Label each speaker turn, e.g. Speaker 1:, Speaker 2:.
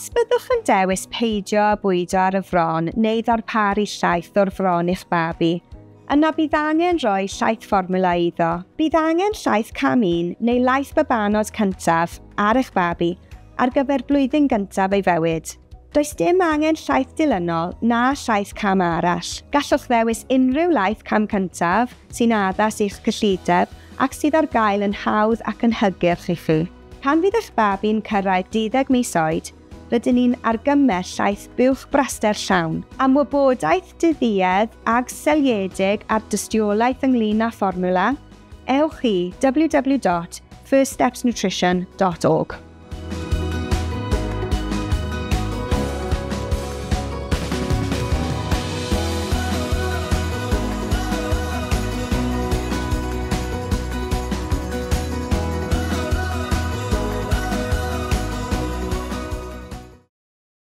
Speaker 1: Os byddwch yn dewis peidio â bwydo ar y fron neu ddarparu llaeth o'r fron i'ch babi, yna bydd angen rhoi llaeth fformwla iddo. Bydd angen llaeth cam 1 neu laeth babanod cyntaf ar eich babi ar gyfer blwyddyn gyntaf ei fywyd. Does dim angen llaeth dilynol na llaeth cam arall. Gallwch ddewis unrhyw laeth cam cyntaf sy'n addas i'ch cyllideb ac sydd ar gael yn hawdd ac yn hygyrch i chi. Pan fydd eich babi'n cyrraedd 12 mis oed, rydyn ni'n argymell llaeth buwch braster llawn. Am wybodaeth didduedd ag seliedig ar dystiolaeth ynglyn â fformwla, ewch i www.firststepsnutrition.org.